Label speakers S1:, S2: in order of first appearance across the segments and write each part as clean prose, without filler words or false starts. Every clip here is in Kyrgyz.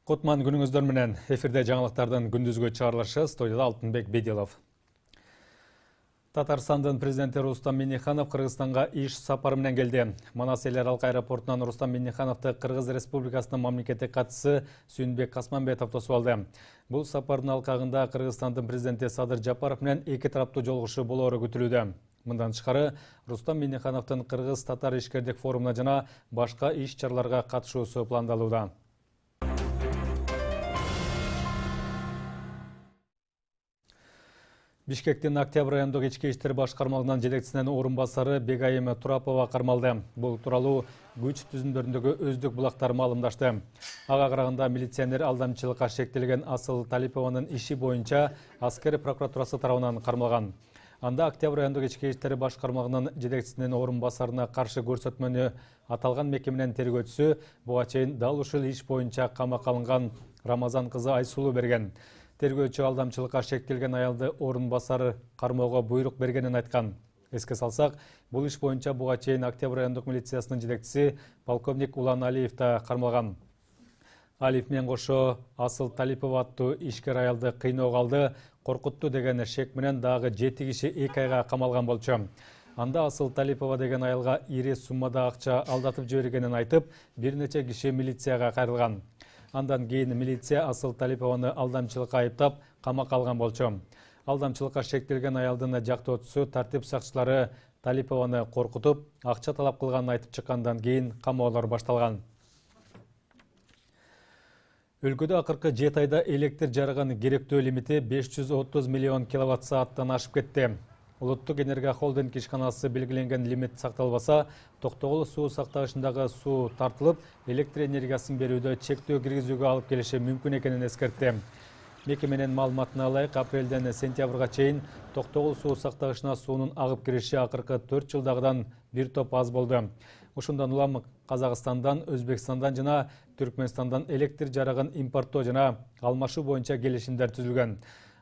S1: Кутман күнүңүздөр менен эфирде жаңылыктардын күндүзгү чыгарылышы, студияда Алтынбек Бедилов. Татарстандын президенти Рустам Минниханов Кыргызстанга иш сапары менен келди. Манас эл аралык аэропортунан Рустам Миннихановду Кыргыз Республикасынын мамлекеттик катчысы Сүйүнбек Касманбетов тосуп алды. Бул сапардын алкагында Кыргызстандын президенти Садыр Жапаров менен эки тараптуу жолугушуу болоору күтүлүүдө. Мындан тышкары Рустам Миннихановдун Кыргыз-татар ишкердик форумуна жана башка иш-чараларга катышуусу пландалууда. Бишкектин Октябрь райондук ички иштер башкармалыгынын жетекчисинин орун басары Бегайым Турапова кармалды. Бул тууралуу күч түзүмдөрүндөгү өздүк булактар маалымдашты. Ага караганда милиционер алдамчылыкка шектелген Асыл Талипованын иши боюнча аскер прокуратурасы тарабынан кармалган. Анда Октябрь райондук ички иштер башкармалыгынын жетекчисинин орун басарына каршы көрсөтмөнү аталган мекеменин тергөөчүсү буга чейин дал ушул иш боюнча камакка алынган Рамазан кызы Айсулуу берген. Тергөөчү алдамчылыкка шектелген аялды орун басары кармоого буйрук бергенин айткан. Эске салсак, бул иш боюнча буга чейин Октябрь райондук милициясынын жетекчиси полковник Улан Алиев да кармалган. Алиев менен кошо Асыл Талипова аттуу ишкер аялды кыйноого алды, коркутту деген шек менен дагы 7 киши 2 айга камалган болчу. Анда Асыл Талипова деген аялга ири суммада акча алдатып жибергенин айтып, бир нече киши милицияга кайрылган. Андан кийин милиция Асыл Талипованы алдамчылыкка айыптап, камакка алган болчу. Алдамчылыкка шектелген аялдын жактоочусу тартип сакчылары Талипованы коркутуп, акча талап кылганын айтып чыккандан кийин камоолор башталган. Өлкөдө акыркы 7 айда электр жарыгынын керектөө лимити 530 миллион киловатт-сааттан ашып кетти. Улуттук энергия холдинг ишканасы белгиленген лимит сакталбаса, Токтогул суу сактагычындагы суу тартылып, электр энергиясын берүүдө чектөө киргизүүгө алып келиши мүмкүн экенин эскертти. Мекеменин маалыматына ылайык, апрелден сентябрга чейин Токтогул суу сактагычына суунун агып кириши акыркы 4 жылдагыдан бир топ аз болду. Ушундан улам Казакстандан, Өзбекстандан жана Түркмөнстандан электр жарыгын импорттоо жана алмашуу боюнча келишимдер түзүлгөн.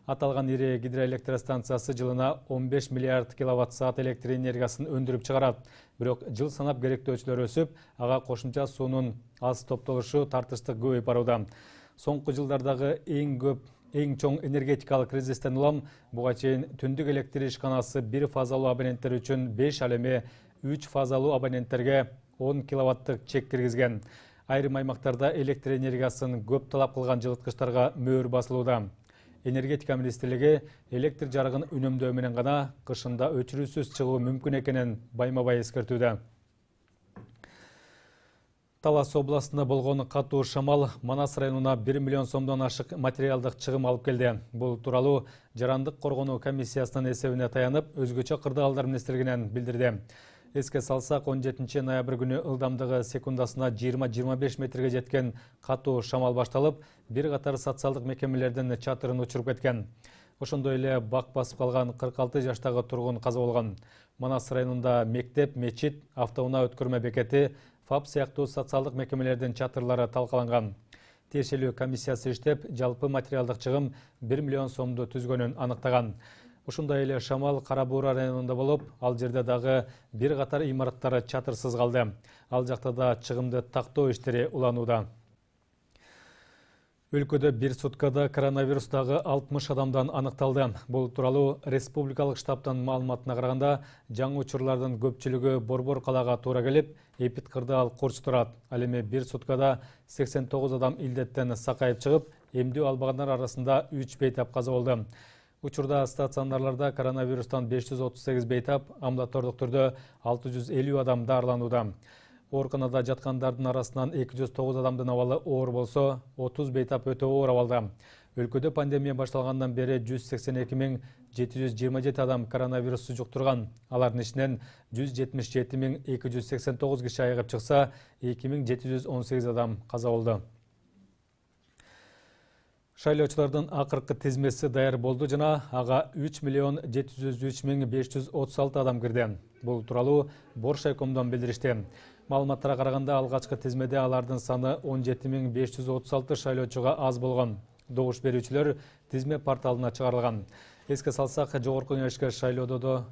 S1: Аталган ири гидроэлектростанциясы жылына 15 миллиард киловатт-саат электр энергиясын өндүрүп чыгарат. Бирок жыл санап керектөөчүлөр өсүп, ага кошумча суунун аз топтолушу тартыштык көбөйүп барууда. Соңку жылдардагы эң чоң энергетикалык кризистен улам буга чейин түндүк электр ишканасы бир фазалуу абоненттер үчүн 5, ал эми 3 фазалуу абоненттерге 10 киловаттык чек киргизген. Айрым аймактарда электр энергиясын көп талап кылган жылыткычтарга мөөр басылууда. Энергетика министрлиги электр жарыгын үнөмдөө менен гана кышында өчүрүүсүз чыгуу мүмкүн экенин байма-бай эскертүүдө. Талас областында болгон катуу шамал Манас районуна 1 миллион сомдон ашык материалдык чыгым алып келди. Бул тууралуу Жарандык коргонуу комиссиясынын эсебине таянып, өзгөчө кырдаалдар министрлигинен билдирди. Эске салсак, 17 ноябрь күнү ылдамдыгы секундасына 20-25 метрге жеткен катуу шамал башталып, бир катар социалдык мекемелердин чатырын учуруп кеткен. Ошондой эле бак басып калган 46 жаштагы тургун каза болгон. Манас районунда мектеп, мечит, автоунаа өткөрмө бекети, ФАП сыяктуу социалдык мекемелердин чатырлары талкаланган. Тиешелүү комиссиясы иштеп, жалпы материалдык чыгым 1 миллион сомду түзгөнүн аныктаган. Ушундай эле шамал Кара Буура районунда болуп, ал жерде дагы бир катар имараттар чатырсыз калды. Ал жакта да чыгымды тактоо иштери уланууда. Өлкөдө бир суткада коронавирустагы 60 адамдан аныкталды. Бул тууралуу республикалык штабтын маалыматына караганда, жаңы учурлардын көпчүлүгү Борбор калаага туура келип, Эпит кырдаал Курч турат. Ал эми бир суткада 89 адам илдеттен сакайып чыгып, эмдөө албагандар арасында 3 бейтап каза болду. Учурда стационарларда коронавирустан 538 бейтап, амбулатордук түрдө 650 адам даарыланууда. Ооруканада жаткандардын арасынан 209 адамдын абалы оор болсо, 30 бейтап өтө оор абалда. Өлкөдө пандемия башталгандан бери 182.727 адам коронавирусту жуктурган. Алардын ичинен 177.289 киши айыгып чыкса, 2.718 адам каза болду. Шайлоочулардын акыркы тизмеси даяр болду жана ага 3.703.536 адам кирди. Бул тууралуу Боршайкомдон билдиришти. Маалыматтарга караганда алгачкы тизмеде алардын саны 17.536 шайлоочуга аз болгон. Добуш берүүчүлөр тизме порталына чыгарылган. Эске салсак, жогорку кеңешке шайлоодо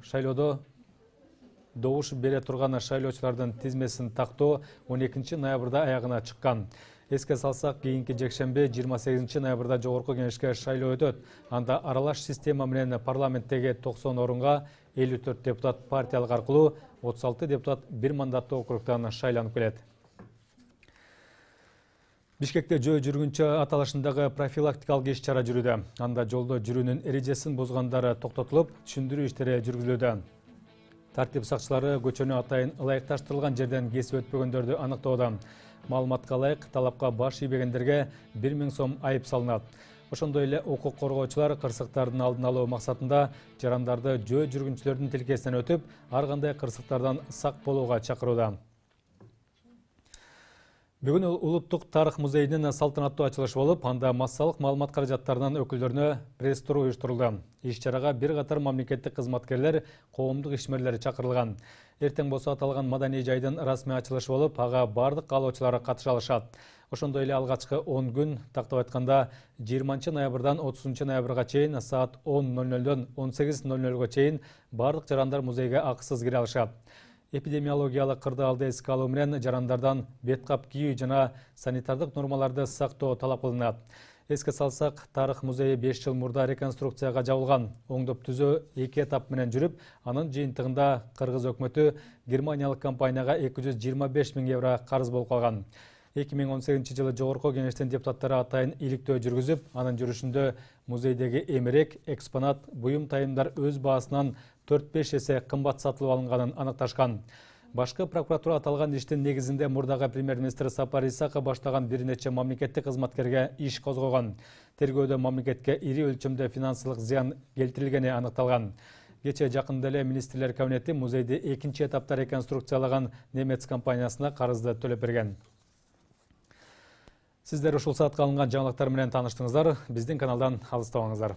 S1: добуш бере турган шайлоочулардын тизмесин тактоо 12 ноябрда аягына чыккан. Эске салсак, кийинки жекшемби 28 ноябрда жогорку кеңешке шайлоо өтөт. Анда аралаш система менен парламенттеги 90 орунга 54 депутат партиялык аркылуу, 36 депутат бир мандаттуу округтан шайланып келет. Бишкекте жөө жүргүнчү аталышындагы профилактикалык иш-чара жүрүүдө. Анда жолдо жүрүүнүн эрежесин бузгандары токтотулуп, түшүндүрүү иштери жүргүзүлүүдө. Тартип сакчылары көчөнү атайын ылайыкташтырылган жерден кесип өтпөгөндөрдү аныктоодо. Маалыматка ылайык, талапка баш ийбегендерге 1000 сом айып салынат. Ошондой эле укук коргоочулар кырсыктардын алдын алуу максатында жарандарды жөө жүргүнчүлөрдүн тилкесинен өтүп, ар кандай кырсыктардан сак болууга чакырууда. Бүгүн Улуттук тарых музейинин салтанаттуу ачылышы болуп, анда массалык маалымат каражаттарынын өкүлдөрүнө пресс-тур уюштурулду. Иш-чарага бир катар мамлекеттик кызматкерлер, коомдук ишмерлер чакырылган. Эртең болсо аталган маданий жайдын расмий ачылышы болуп, ага бардык каалоочулар катыша алышат. Ошондой эле алгачкы 10 күн, тактап айтканда 20 ноябрдан 30 ноябрга чейин саат 10:00дөн 18:00га чейин бардык жарандар музейге акысыз кире алышат. Эпидемиологиялык кырдаалды эске алуу менен жарандардан бет кап кийүү жана санитардык нормаларды сактоо талап кылынат. Эске салсак, тарых музейи 5 жыл мурда реконструкцияга жабылган. Оңдоп түзөө 2 этап менен жүрүп, анын жыйынтыгында Кыргыз өкмөтү германиялык компанияга 225 000 евро карыз болуп калган. 2018 жылы жогорку кеңештин депутаттары атайын иликтөө жүргүзүп, анын жүрүшүндө музейдеги эмерек, экспонат, буюм тайымдар өз баасынан 4-5 эсе кымбат сатылып алынганын аныкташкан. Башкы прокуратура аталган иштин негизинде мурдагы премьер-министр Сапар Исаков баштаган бир нече мамлекеттик кызматкерге иш козгогон. Тергөөдө мамлекетке ири өлчөмдө финансылык зыян келтирилгени аныкталган. Кече жакында эле министрлер кабинети музейди 2 этапта реконструкциялаган немец компаниясына карызды төлөп берген. Сиздер ушул саатка алынган жаңылыктар менен тааныштыңыздар. Биздин каналдан алыстабаңыздар.